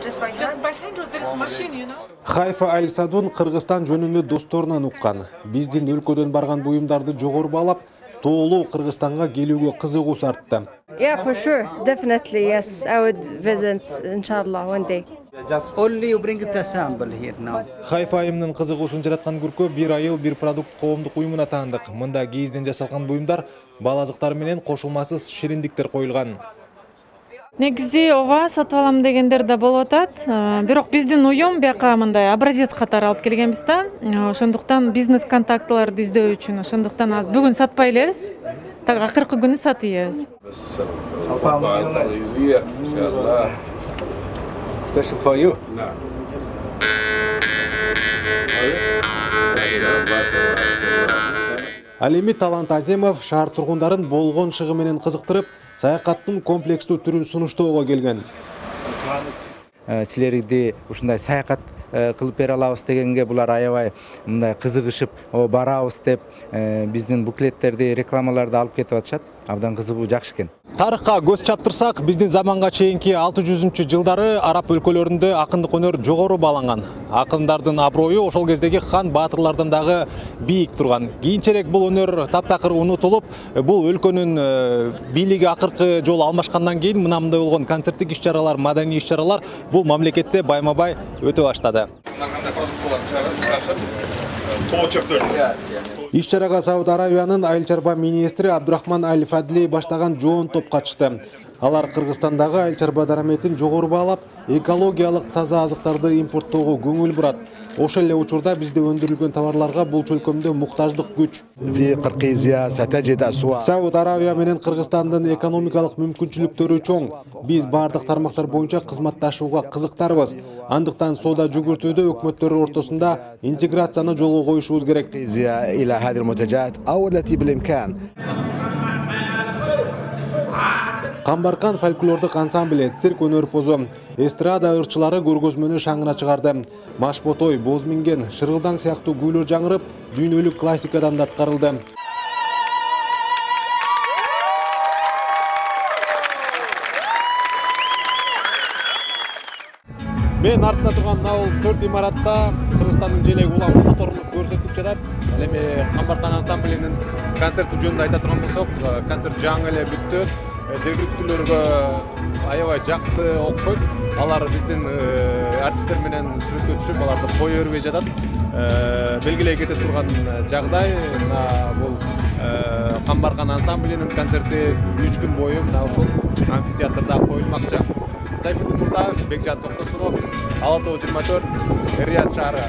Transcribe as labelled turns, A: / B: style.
A: Just by hand or there is machine, you know?
B: Хайфа Аль-Садун Кыргызстан жөнүндө досторунан уккан. Биздин өлкөдөн барган буюмдарды жогору баалап, тоолуу Кыргызстанга келүүгө кызыгуусу артты.
C: Yeah, for sure. Definitely, yes. I would visit, inshallah, one day.
D: Just only you bring the sample here now.
B: Хайфа айымдын кызыгуусун жараткан көркө бир айыл бир продукт коомдук уюмуна таандык. Мында кийизден жасалган буюмдар, бал азыктар менен кошулмасыз шириндиктер коюлган.
E: Негизи ооба сатып алам дегендер да болуп атат. Бирок биздин уюм бияка мындай образец катары алып келгенбиз да. Ошондуктан бизнес контактыларды издөө үчүн, ошондуктан азыр бүгүн сатпай элебиз. Так акыркы күнү сатып
D: Special for you.
B: Ал эми Талант Аземов шаар тургундарын болгон шыгы менен кызыктырып, саякаттын комплекстүү түрүн сунуштоого келген.
F: Силерди ушундай саякат кылып бере алабыз дегенге булар аябай мындай кызыгышып, барабыз деп биздин буклеттерди, рекламаларды алып кетип атышат. Абдан кызыгуу жакшы экен.
B: Тарыхка көз чаптырсак, биздин заманга чейинки 600-жылдары араб өлкөлөрүндө акындык өнөр жогору бааланган. Акындардын аброю ошол кездеги хан баатырлардан дагы бийик турган. Кийинчерээк бул өнөр таптакыр унутулуп, бул өлкөнүн бийлиги акыркы жолу алмашкандан кийин мына мындай болгон концерттик иш-чаралар, маданий иш-чаралар бул мамлекетте байма-бай өтө баштады. Иш-чарага Сауд Арабиянын айыл чарба министри Абдурахман Аль-Фадли баштаган жоон топ катышты. Алар Кыргызстандагы айыл чарба дараметин жогору баалап, экологиялык таза азыктарды импорттоого көңүл бурат. Ошол эле учурда бизде өндүрүлгөн товарларга бул чөлкөмдө муктаждык күч. Сауд Арабия менен Кыргызстандын экономикалык мүмкүнчүлүктөрү чоң. Биз бардык тармактар боюнча кызматташууга кызыктарбыз. Андыктан соода жүгүртүүдө өкмөттөр ортосунда интеграцияны жолго коюшубуз керек. Камбаркан фольклордук ансамбль, цирк өнөрпозу, эстрада ырчылары көргөзмөнү шаңына чыгарды. Машботой, боз минген, шырылдаң сыяктуу күүлөр жаңырып, дүйнөлүк классикадан да аткарылды. Мен артында турган мына 4 имаратта Кыргызстандын желеги улам которулуп көрсөтүлүп жатат. Ал эми Камбаркан ансамблинин концерти жөнүндө айта турган болсок, концерт жаңы эле бүттү. Жергиликтүүлөргө аябай жакты окшойт. Алар биздин артисттер менен сүрөткө түшүп, аларды кое бербей жатат. Белгилей кете турган жагдай мына бул Камбаркан ансамблинин концерти 3 күн бою мына ушул амфитеатрда коюлмакчы. Сайфуддин Мурзаев, Бекжан Токтосунов, Ала Тоо 24, Рият шаары.